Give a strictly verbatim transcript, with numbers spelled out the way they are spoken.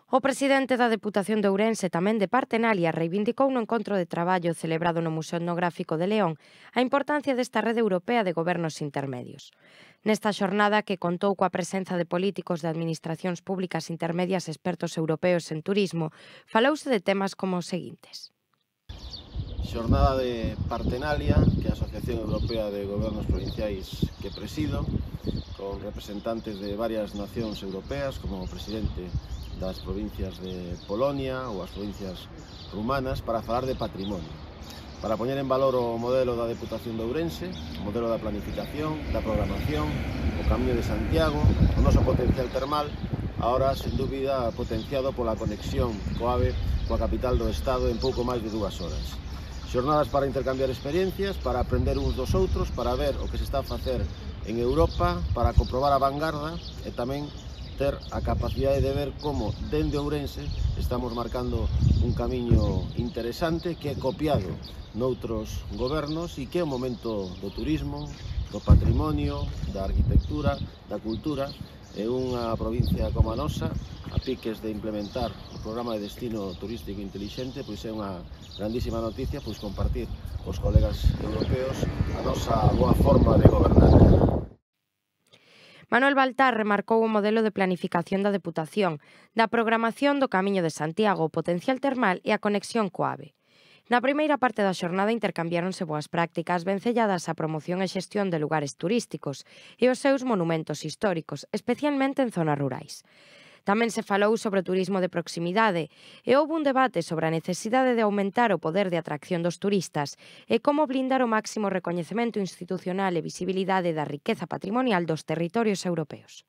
O presidente da Deputación de Ourense, tamén de Partenalia, reivindicou no encontro de traballo celebrado no Museo Etnográfico de León a importancia desta rede europea de gobernos intermedios. Nesta xornada, que contou coa presenza de políticos de administracións públicas intermedias e expertos europeos en turismo, falouse de temas como os seguintes. Xornada de Partenalia, que é a Asociación Europea de Gobernos Provinciais que presido, con representantes de varias nacións europeas, como o presidente das provincias de Polonia ou as provincias rumanas, para falar de patrimonio, para poñer en valor o modelo da Deputación de Ourense, o modelo da planificación, da programación, o Camiño de Santiago, o noso potencial termal, ahora, sen dúbida, potenciado pola conexión co AVE coa capital do Estado en pouco máis de dúas horas. Xornadas para intercambiar experiencias, para aprender uns dos outros, para ver o que se está a facer en Europa, para comprobar a vanguarda e tamén ter a capacidade de ver como, dende Ourense, estamos marcando un camiño interesante que é copiado noutros gobernos e que é o momento do turismo, do patrimonio, da arquitectura, da cultura, e unha provincia como a nosa, a piques de implementar o programa de destino turístico intelixente, pois é unha grandísima noticia pois compartir cos colegas europeos a nosa boa forma de gobernar. Manuel Baltar remarcou o modelo de planificación da Deputación, da programación do Camiño de Santiago, o potencial termal e a conexión co AVE. Na primeira parte da xornada intercambiáronse boas prácticas vencelladas á promoción e xestión de lugares turísticos e os seus monumentos históricos, especialmente en zonas rurais. Tamén se falou sobre o turismo de proximidade e houve un debate sobre a necesidade de aumentar o poder de atracción dos turistas e como blindar o máximo recoñecemento institucional e visibilidade da riqueza patrimonial dos territorios europeos.